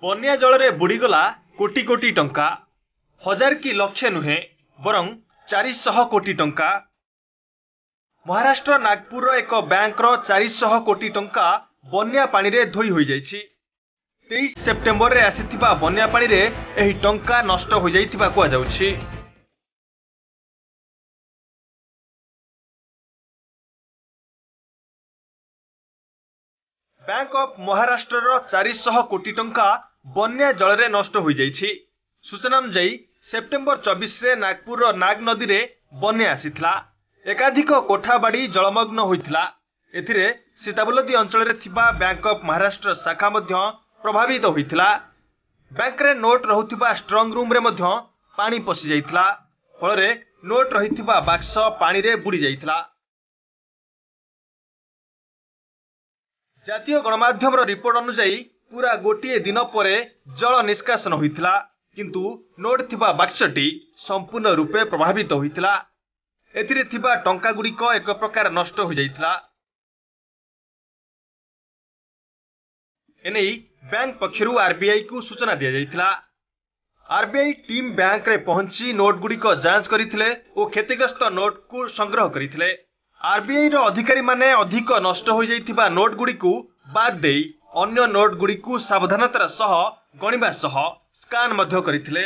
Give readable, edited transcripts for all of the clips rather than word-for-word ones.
ବନ୍ୟା ଜଳରେ ବୁଡ଼ିଗଲା କୋଟି କୋଟି ଟଙ୍କା। ହଜାର କି ଲକ୍ଷେ ନୁହେଁ, ବରଂ 400 କୋଟି ଟଙ୍କା। ମହାରାଷ୍ଟ୍ର ନାଗପୁରର ଏକ ବ୍ୟାଙ୍କର 400 କୋଟି ଟଙ୍କା ବନ୍ୟା ପାଣିରେ ଧୋଇ ହୋଇଯାଇଛି। 23 ସେପ୍ଟେମ୍ବରରେ ଆସିଥିବା ବନ୍ୟା ପାଣିରେ ଏହି ଟଙ୍କା ନଷ୍ଟ ହୋଇଯାଇଥିବା କୁହାଯାଉଛି। ବ୍ୟାଙ୍କ ଅଫ୍ ମହାରାଷ୍ଟ୍ରର 400 କୋଟି ଟଙ୍କା ବନ୍ୟା ଜଳରେ ନଷ୍ଟ ହୋଇଯାଇଛି। ସୂଚନା ଅନୁଯାୟୀ, ସେପ୍ଟେମ୍ବର 24ରେ ନାଗପୁରର ନାଗ ନଦୀରେ ବନ୍ୟା ଆସିଥିଲା। ଏକାଧିକ କୋଠାବାଡ଼ି ଜଳମଗ୍ନ ହୋଇଥିଲା। ଏଥିରେ ସୀତାବୁଲଦୀ ଅଞ୍ଚଳରେ ଥିବା ବ୍ୟାଙ୍କ ଅଫ୍ ମହାରାଷ୍ଟ୍ର ଶାଖା ମଧ୍ୟ ପ୍ରଭାବିତ ହୋଇଥିଲା। ବ୍ୟାଙ୍କରେ ନୋଟ୍ ରହୁଥିବା ଷ୍ଟ୍ରଙ୍ଗ ରୁମ୍ରେ ମଧ୍ୟ ପାଣି ପଶିଯାଇଥିଲା। ଫଳରେ ନୋଟ୍ ରହିଥିବା ବାକ୍ସ ପାଣିରେ ବୁଡ଼ି ଯାଇଥିଲା। ଜାତୀୟ ଗଣମାଧ୍ୟମର ରିପୋର୍ଟ ଅନୁଯାୟୀ, ପୁରା ଗୋଟିଏ ଦିନ ପରେ ଜଳ ନିଷ୍କାସନ ହୋଇଥିଲା, କିନ୍ତୁ ନୋଟ୍ ଥିବା ବାକ୍ସଟି ସମ୍ପୂର୍ଣ୍ଣ ରୂପେ ପ୍ରଭାବିତ ହୋଇଥିଲା। ଏଥିରେ ଥିବା ଟଙ୍କାଗୁଡ଼ିକ ଏକ ପ୍ରକାର ନଷ୍ଟ ହୋଇଯାଇଥିଲା। ଏନେଇ ବ୍ୟାଙ୍କ ପକ୍ଷରୁ ଆରବିଆଇକୁ ସୂଚନା ଦିଆଯାଇଥିଲା। ଆରବିଆଇ ଟିମ୍ ବ୍ୟାଙ୍କରେ ପହଞ୍ଚି ନୋଟ୍ଗୁଡ଼ିକ ଯାଞ୍ଚ କରିଥିଲେ ଓ କ୍ଷତିଗ୍ରସ୍ତ ନୋଟ୍କୁ ସଂଗ୍ରହ କରିଥିଲେ। ଆରବିଆଇର ଅଧିକାରୀମାନେ ଅଧିକ ନଷ୍ଟ ହୋଇଯାଇଥିବା ନୋଟ୍ଗୁଡ଼ିକୁ ବାଦ୍ ଦେଇ ଅନ୍ୟ ନୋଟ୍ଗୁଡ଼ିକୁ ସାବଧାନତାର ସହ ଗଣିବା ସହ ସ୍କାନ୍ ମଧ୍ୟ କରିଥିଲେ।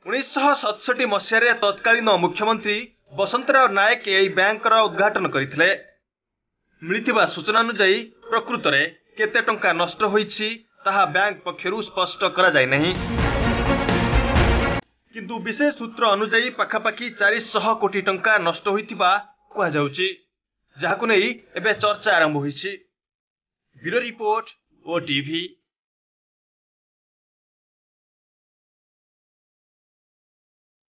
1967 ମସିହାରେ ତତ୍କାଳୀନ ମୁଖ୍ୟମନ୍ତ୍ରୀ ବସନ୍ତରାଓ ନାୟକ ଏହି ବ୍ୟାଙ୍କର ଉଦ୍ଘାଟନ କରିଥିଲେ। ମିଳିଥିବା ସୂଚନା ଅନୁଯାୟୀ, ପ୍ରକୃତରେ କେତେ ଟଙ୍କା ନଷ୍ଟ ହୋଇଛି ତାହା ବ୍ୟାଙ୍କ ପକ୍ଷରୁ ସ୍ପଷ୍ଟ କରାଯାଇନାହିଁ। କିନ୍ତୁ ବିଶେଷ ସୂତ୍ର ଅନୁଯାୟୀ ପାଖାପାଖି 400 କୋଟି ଟଙ୍କା ନଷ୍ଟ ହୋଇଥିବା କୁହାଯାଉଛି, ଯାହାକୁ ନେଇ ଏବେ ଚର୍ଚ୍ଚା ଆରମ୍ଭ ହୋଇଛି। Bureau report, OTV.